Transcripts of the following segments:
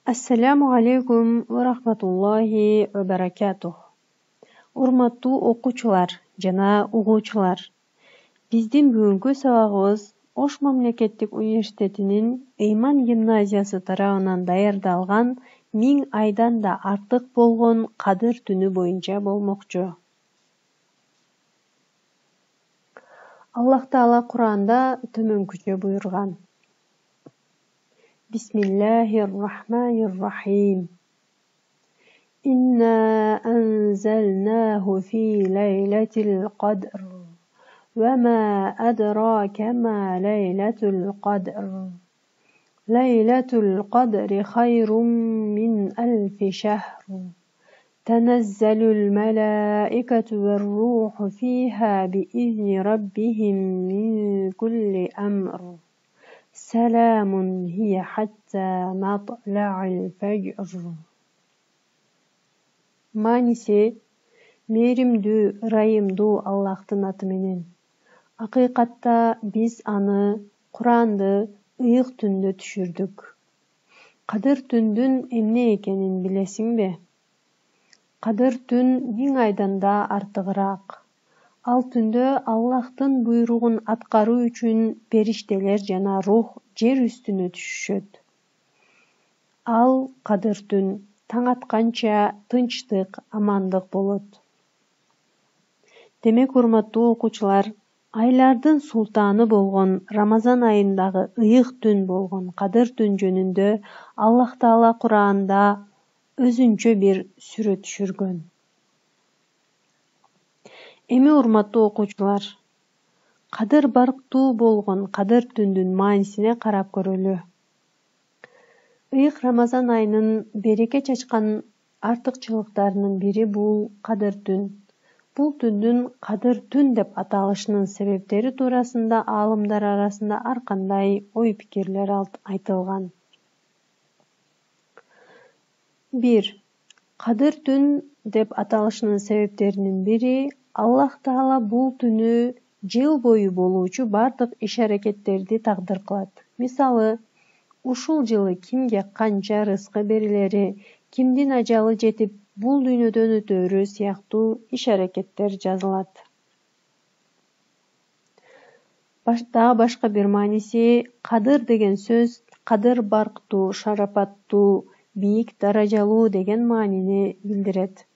Ассаламу алейкум ва рахматуллахи ва баракатух. Урматтуу окуучулар жана угуучулар. Биздин бүгүнкү сабагыбыз Ош мамлекеттик университетинин Ыйман гимназиясы тарабынан даярдалган 1000 айдан да артык болгон Кадыр түнү боюнча болмокчу. Аллах Таала Куранда төмөнкүчө буйруган: Бисмиллахир-рахманир-рахим. Инна анзалнаху фи лейлатил кадр. Ва ма адрака ма лейлатул кадр. Лейлатул кадри хайрум мин альфи шахр. تنزل الملائكة والروح فيها بإذن ربهم من كل أمر سلام هي حتى مطلع الفجر. Маниси мээримдүү, ырайымдуу Аллахтын аты менен. Акыйкатта биз аны, Куранды ыйык түндө түшүрдүк. Кадыр түндүн эмне экенин билесиңби? Кадыр түн 1000 айдан да артыгыраак. Ал түндө Аллахтын буйругун аткаруу үчүн периштелер жана рух жер үстүнө түшүшөт. Ал Кадыр түн таң атканча тынчтык, амандык болот. Демек, урматтуу окуучулар, айлардын султаны болгон Рамазан айындагы ыйык түн болгон Кадыр түн жөнүндө Аллах Таала Куранда өзүнчө бир сүрө түшүргөн. Эми, урматтуу окуучулар, Кадыр барктуу болгон Кадыр түндүн маанисине карап көрөлү. Ыйык Рамазан айынын береке чачкан артыкчылыктарынын бири бул Кадыр түн. Бул түндүн Кадыр түн деп аталышынын себептери туурасында аалымдар арасында ар кандай ой пикирлер айтылган. 1. Кадыр түн деп аталышынын себептеринин бири Аллах Таала бул түнү жыл бою болуучу бардык иш-аракеттерди тагдыр кылат. Мисалы, ушул жылы кимге канча рызкы берилери, кимдин ажалы жетип бул дүйнөдөн өтөөрү сыяктуу иш-аракеттер жазылат. Дагы башка бир мааниси, Кадыр деген сөз кадыр барктуу, шарапаттуу, бийик даражалуу деген маанини билдирет.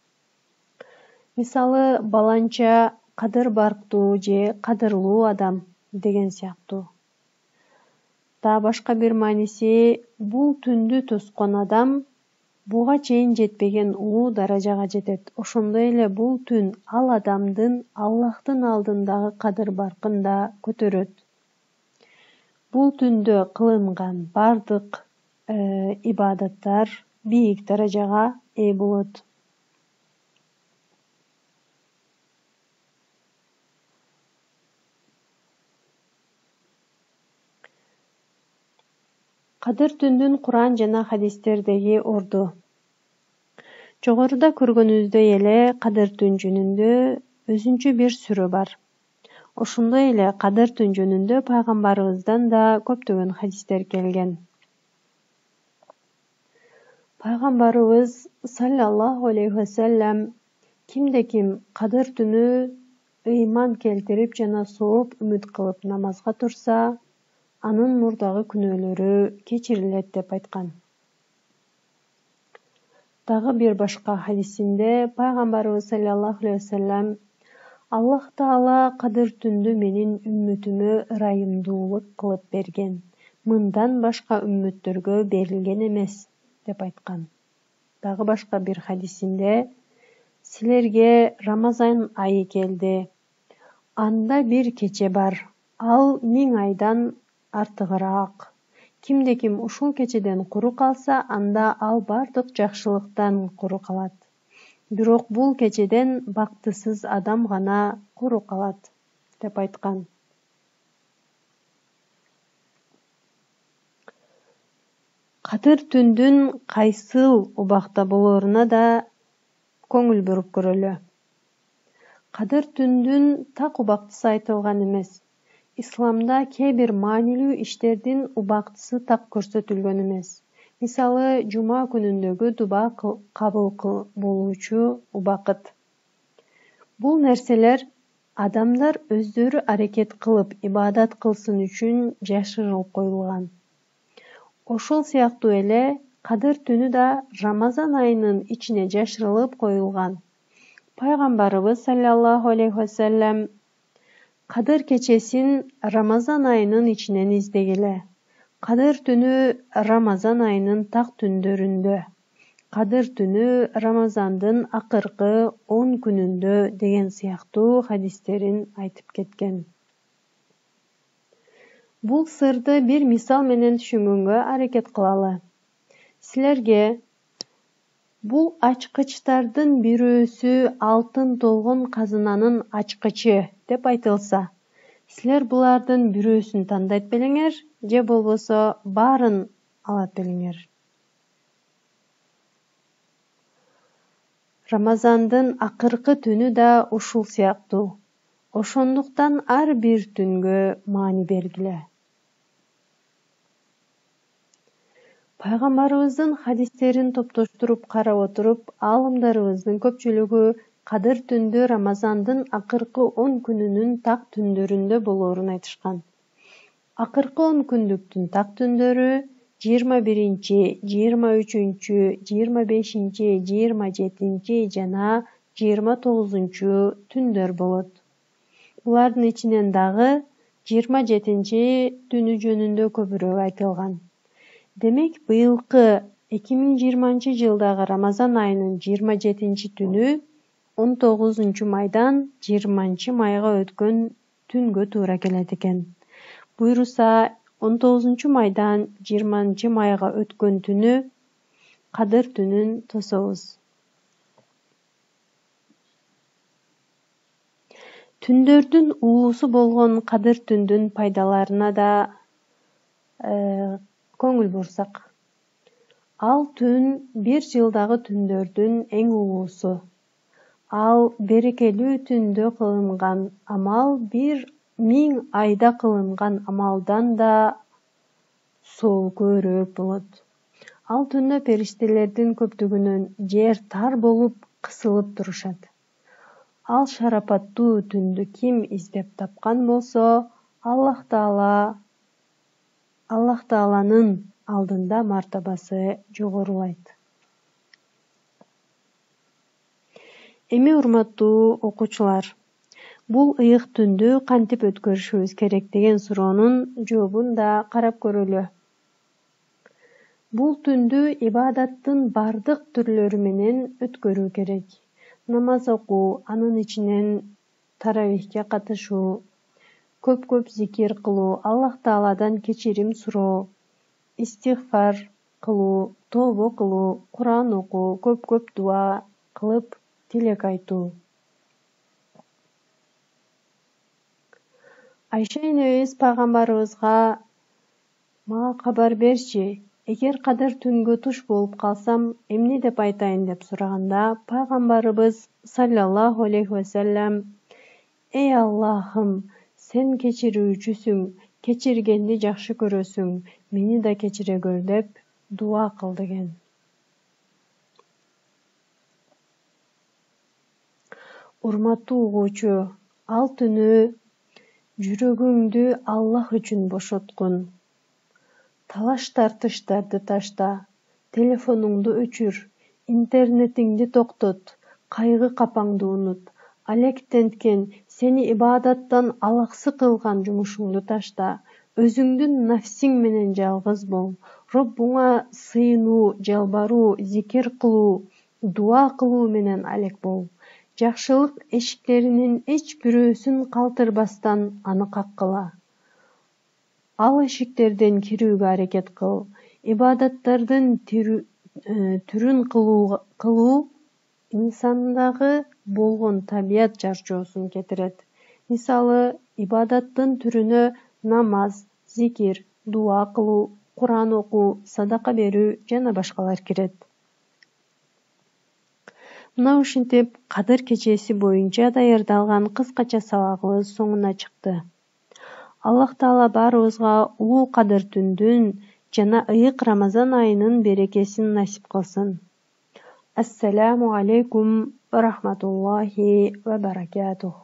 Мисалы, баланча кадыр барктуу же кадырлуу адам деген сыяктуу. Дагы башка бир мааниси, бул түндү тоскон адам буга чейин жетпеген улуу даражага жетет. Ошондой эле бул түн ал адамдын Аллахтын алдындагы кадыр баркын да көтөрөт. Бул түндө кылынган бардык ибадаттар бийик даражага ээ болот. Кадыр түндүн Куран жана хадистердеги орду. Жогоруда көргөнүбүздөй эле Кадыр түн жөнүндө өзүнчө бир сүрө бар. Ошондой эле Кадыр түн жөнүндө пайгамбарыбыздан да көптөгөн хадистер келген. Пайгамбарыбыз саллаллаху алейхи ва саллям кимде-ким Кадыр түнү ыйман келтирип жана сооп үмүт кылып намазга турса, анын мурдагы күнөөлөрү кечирилет деп айткан. Дагы бир башка хадисинде пайгамбарыбыз саллаллаху алейхи ва саллям Аллах Таала Кадыр түндү менин үммөтүмө ырайымдуулук кылып берген. Мындан башка үммөттөргө берилген эмес деп айткан. Дагы башка бир хадисинде силерге Рамазан айы келди. Анда бир кече бар. Ал 1000 айдан артыгыраак. Кимде-ким ушул кечеден куру калса, анда ал бардык жакшылыктан куру калат. Бирок бул кечеден бактысыз адам гана куру калат деп айткан. Кадыр түндүн кайсыл убакта болоруна да көңүл буруп көрөлү. Кадыр түндүн так убактысы айтылган эмес. Исламда кээ бир маанилүү иштердин убактысы так көрсөтүлгөн эмес. Мисалы, жума күнүндөгү дуба кабыл болуучу убакыт. Бул нерселер адамдар өздөрү аракет кылып ибадат кылсын үчүн жашырылып коюлган. Ошол сыяктуу эле Кадыр түнү да Рамазан айынын ичине жашырылып коюлган. Пайгамбарыбыз саллаллаху алейхи вассалам Кадыр кечесин Рамазан айынын ичинен издегиле. Кадыр түнү Рамазан айынын так түндөрүндө, Кадыр түнү Рамазандын акыркы 10 күнүндө деген сыяктуу хадистерин айтып кеткен. Бул сырды бир мисал менен түшүнгөнгө аракет кылалы. Силерге бул ачкычтардын бирөөсү алтын толгон казынанын ачкычы деп айтылса, силер булардын бирөөсүн тандайт белеңер же болбосо баарын алат белеңер? Рамазандын акыркы түнү да ушул сыяктуу. Ошондуктан ар бир түнгө маани бергиле. Пайгамбарыбыздын хадистерин топтоштуруп карап отуруп, аалымдарыбыздын көпчүлүгү Кадыр түндү Рамазандын акыркы 10 күнүнүн так түндөрүндө болоорун айтышкан. Акыркы 10 күндүктүн так түндөрү 21, 23, 25, 27 жана 29 түндөр болот. Булардын ичинен дагы 27 түнү жөнүндө көбүрөөк айтылган. Демек, быйылкы 2020 жылдагы Рамазан айынын 27 түнү 19 майдан 20 майга өткөн түнгө туура келет экен. Буйруса 19 майдан 20 майга өткөн түнү Кадыр түнүн тособуз. Түндөрдүн улуусу болгон Кадыр түндүн пайдаларына да көңүл бурсак. Ал түн бир жылдагы түндөрдүн эң улуусу. Ал берекелүү түндө кылынган амал 1000 айда кылынган амалдан да көбүрөөк болот. Ал түндө периштелердин көптүгүнөн жер тар болуп, кысылып турушат. Ал шарапаттуу түндү ким издеп тапкан болсо, Аллах Тааланын алдында мартабасы жогорулайт. Эми урматтуу окуучулар, бул ыйык түндү кантип өткөрүшүбүз керек деген суроонун жообун да карап көрөлү. Бул түндү ибадаттын бардык түрлөрү менен өткөрүү керек. Намаз окуу, анын ичинен таравихке катышуу, көп зикир кылуу, Аллах Тааладан кечирим суроо, истигфар кылуу, тобо кылуу, Куран окуу, көп дуа кылып, тилек айтуу. Айша энебиз пайгамбарыбызга мага кабар берчи, эгер Кадыр түнгө туш болуп калсам, эмне деп айтайын деп сураганда, пайгамбарыбыз саллаллаху алейхи вассалам: "Эй Аллахым, сен кечирүүчүсүң, кечиргенди жакшы көрөсүң, мени да кечире көр" деп дуа кыл деген. Урматтуу угуучу, ал түнү жүрөгүңдү Аллах үчүн бошоткун. Талаш-тартыштарды ташта, телефонуңду өчүр, интернетиңди токтот, кайгы-капаңды унут, алектенткен, сени ибадаттан алаксы кылган жумушуңду ташта, өзүңдүн нафсиң менен жалгыз бол, Роббуңа сыйынуу, жалбаруу, зикир кылуу, дуа кылуу менен алек бол. Жакшылык эшиктеринин эч бирөөсүн калтырбастан аны каккыла. Ал эшиктерден кирүүгө аракет кыл. Ибадаттардын түрүн кылуу инсандагы болгон табият жарчоосун кетирет. Мисалы, ибадаттын түрүнө намаз, зикир, дуа кылуу, Куран окуу, садака берүү жана башкалар кирет. Мына ушинтип Кадыр кечеси боюнча даярдалган кыскача сабагыбыз соңуна чыкты. Аллах Таала баарыбызга улуу Кадыр түндүн жана ыйык Рамазан айынын берекесин насип кылсын. Ассаламу алейкум ва рахматуллахи ва баракатух.